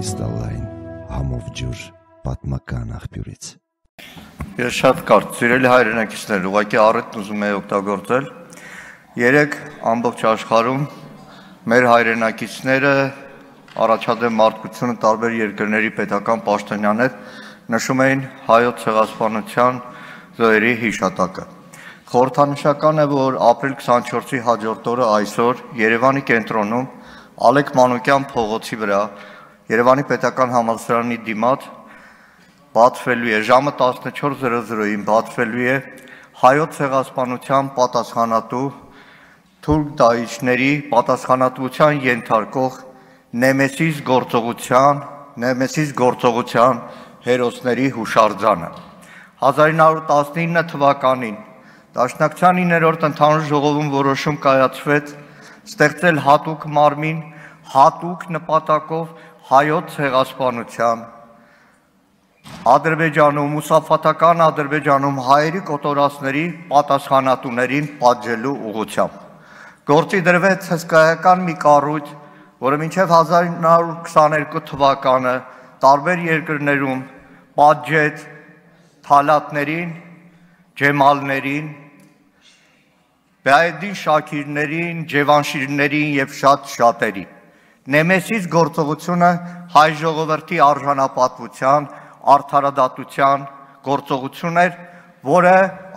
կրիստալային համով ջուր պատմական աղբյուրից։ Ես շատ կարճ, սիրելի հայրենակիցներ, ուղղակի առիթն ուզում եի օգտագործել։ Երեկ ամբողջ աշխարհում մեր հայրենակիցները առաջադեմ մարդկությունը տարբեր երկրների պետական պաշտոնյաներ նշում էին հայոց ցեղասպանության զոհերի հիշատակը։ Խորհրդանշական է, որ ապրիլ 24-ի հաջորդ օրը այսօր Երևանի կենտրոնում Ալեք Մանուկյան փողոցի վրա Երևանի պետական համալսարանի դիմաց բացվելու է ժամը 14:00-ին բացվելու է հայոց ցեղասպանության պատասխանատու թուրք դահիճների պատասխանատվության ենթարկող Նեմեսիս գործողության հերոսների հուշարձանը։ 1919 թվականին Դաշնակցության 9-րդ ընդհանուր ժողովում որոշում կայացվեց ստեղծել հատուկ մարմին հատուկ նպատակով հայոց ցեղասպանության Ադրբեջանում, մուսաֆաթական Ադրբեջանում հայերի կոտորածների պատասխանատուներին պատժելու ուղղությամբ։ Գործի դրվեց հսկայական մի կառույց, որը մինչև 1922 թվականը տարբեր երկրներում պատժեց թալատներին, ջեմալներին, Բայեդին Շաքիրներին, Ջևանշիրներին եւ շատ-շատերի։ Նեմեսիս գործողությունը հայ ժողովրդի արժանապատվության, արդարադատության գործողություն էր, որը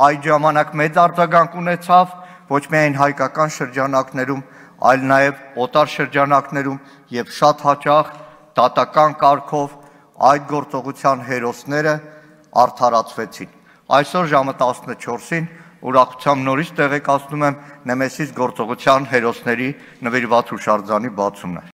այդ ժամանակ մեծ արձագանք ունեցավ ոչ միայն հայկական շրջանակներում, այլ նաեւ օտար շրջանակներում եւ շատ հաճախ դատական կարգով այդ գործողության հերոսները արդարացվեցին։ Այսօր ժամը 14-ին ուրախությամբ նորից տեղեկացնում եմ Նեմեսիս գործողության հերոսների նվիրված հուշարձանի բացումն է։